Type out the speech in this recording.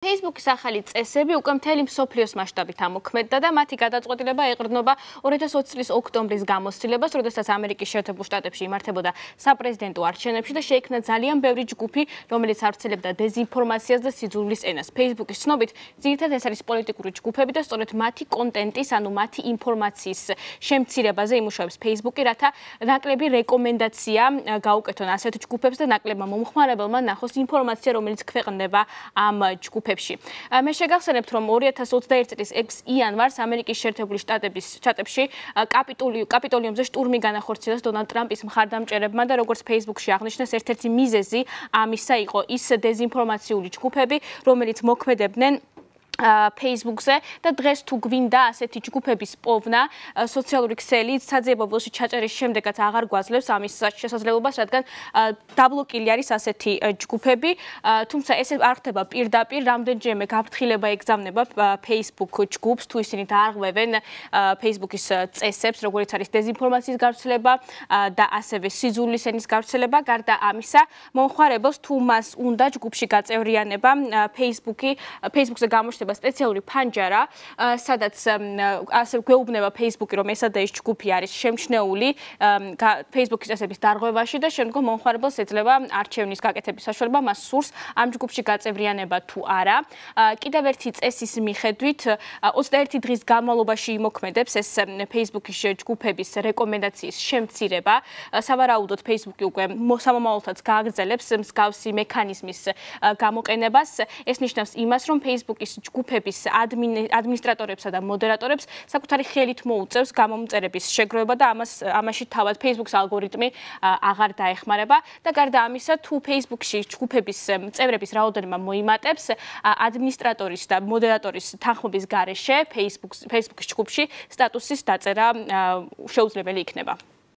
Facebook-ის ახალი წესები უკვე მთელი მსოფლიოს მასშტაბით ამოქმედდა და მათი გადაწყვეტილება ეყრდნობა 2020 წლის ოქტომბრის გამოცდილებას, როდესაც ამერიკის შეერთებულ შტატებში იმართებოდა საპრეზიდენტო არჩევნებში და შეიქმნა ძალიან ბევრი ჯგუფი, რომელიც ავრცელებდა დეზინფორმაციას და სიძულვილის ენას. Facebook-ის ცნობით, ძირითადად ეს არის პოლიტიკური ჯგუფები და სწორედ მათი კონტენტის, ანუ მათი ინფორმაციის შემცირებაზე იმუშავებს Facebook-ი, რათა ნაკლები რეკომენდაცია გაუკეთონ ასეთ ჯგუფებს და ნაკლებმა მომხმარებელმა ნახოს ინფორმაცია, რომელიც ქვეყნდება ამ ჯგუფებში. მე შეგახსენებთ, რომ 2021 წლის 6 იანვარს ამერიკის შეერთებული შტატებში კაპიტოლიუმზე შტურმი განახორციელეს დონალდ ტრამპის მხარდამჭერებმა და როგორც Facebook-ში აღნიშნეს, ერთ-ერთი მიზეზი ამისა იყო ის დეზინფორმაციული ჯგუფები, რომელიც მოქმედებდნენ Facebook-ზე და დღეს თუ გვინდა ასეთი ჯგუფების პოვნა, სოციალური ქსელი საძიებო ველში ჩაჭერის შემდეგაც აღარ გვაძლევს ამის შესაძლებლობას, რადგან დაბლოკილი არის ასეთი ჯგუფები, თუმცა ეს არ ხდება პირდაპირ, რამდენჯერმე გაფრთხილება ეგზავნება Facebook ჯგუფს, თუ ისინი დაარღვევენ Facebook-ის წესებს, როგორც არის დეზინფორმაციის გავრცელება და ასევე სიძულვილის ენის გავრცელება. გარდა ამისა, მომხმარებელს თუ მას უნდა ჯგუფში გაწევრიანება, Facebook-ზე გამოჩნდება სპეციალური ფანჯარა, სადაც ასე გვეუბნება Facebook-ი, რომ ესა და ეს ჯგუფი არის შემჩნეული Facebook-ის წესების დარღვევაში და შემდგომ მომხმარებელს ეძლევა არჩევნის გაკეთების საშუალება, მას სურს ამ ჯგუფში გაწევრიანება თუ არა. კიდევ ერთი წესის მიხედვით 21 დღის განმავლობაში იმოქმედებს ეს Facebook-ის ჯგუფების რეკომენდაციის შემცირება. სავარაუდოდ Facebook-ი უკვე სამომავლოდაც გააგრძელებს მსგავსი მექანიზმის გამოყენებას. ეს ნიშნავს იმას, რომ Facebook-ის ჯგუფების ადმინისტრატორებსა და მოდერატორებს საკუთარი ხელით მოუწევს გამომწერების შეგროვება და ამაში თავად Facebook-ის ალგორითმი აღარ დაეხმარება და გარდა ამისა, თუ Facebook-ში ჯგუფების წევრების რაოდენობა მოიმატებს, ადმინისტრატორის და მოდერატორის თანხმობის გარეშე Facebook-ის ჯგუფში სტატუსის დაწერა შეუძლებელი იქნება.